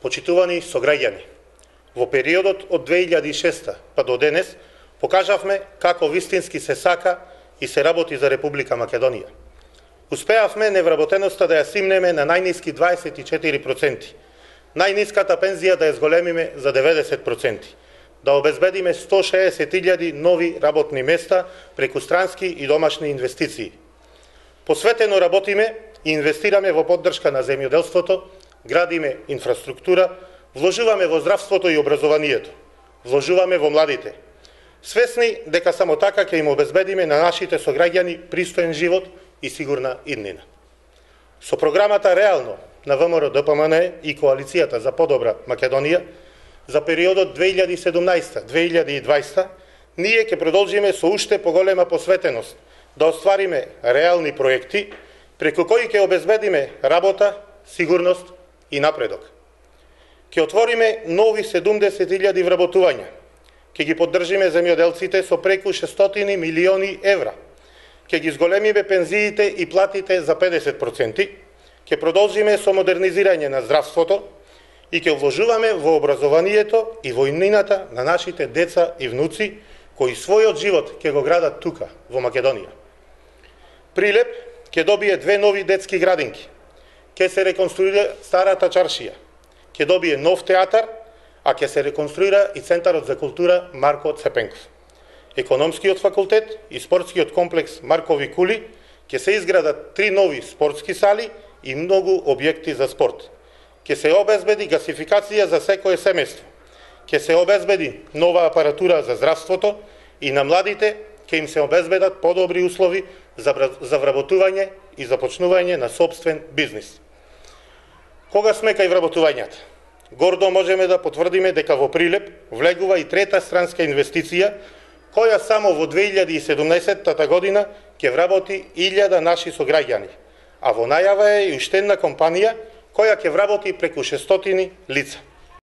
Почитувани сограѓани, во периодот од 2006 па до денес покажавме како вистински се сака и се работи за Република Македонија. Успеавме невработеноста да ја симнеме на најниски 24%, најниската пензија да ја зголемиме за 90%, да обезбедиме 160.000 нови работни места преку странски и домашни инвестиции. Посветено работиме и инвестираме во поддршка на земјоделството, градиме инфраструктура, вложуваме во здравството и образованието, вложуваме во младите. Свесни дека само така ќе им обезбедиме на нашите сограѓани пристоен живот и сигурна иднина. Со програмата Реално на ВМРО-ДПМН и Коалицијата за подобра Македонија за периодот 2017-2020 ние ќе продолжиме со уште поголема посветеност да оствариме реални проекти преку кои ќе обезбедиме работа, сигурност и напредок. Ќе отвориме нови 70.000 вработувања. Ќе ги поддржиме земјоделците со преку 600 милиони евра. Ќе ги зголемиме пензиите и платите за 50%. Ќе продолжиме со модернизирање на здравството и ќе вложуваме во образованието и во иднината на нашите деца и внуци кои својот живот ќе го градат тука, во Македонија. Прилеп ќе добие 2 нови детски градинки. Ќе се реконструира старата чаршија. Ќе добие нов театар, а ќе се реконструира и Центарот за култура Марко Цепенков. Економскиот факултет и спортскиот комплекс Маркови кули ќе се изградат 3 нови спортски сали и многу објекти за спорт. Ќе се обезбеди гасификација за секое семејство. Ќе се обезбеди нова апаратура за здравството и на младите ќе им се обезбедат подобри услови за вработување и започнување на сопствен бизнис. Кога сме кај вработувањата? Гордо можеме да потврдиме дека во Прилеп влегува и трета странска инвестиција, која само во 2017 година ќе вработи 1000 наши сограѓани, а во најава е и уште една компанија која ќе вработи преку 600 лица.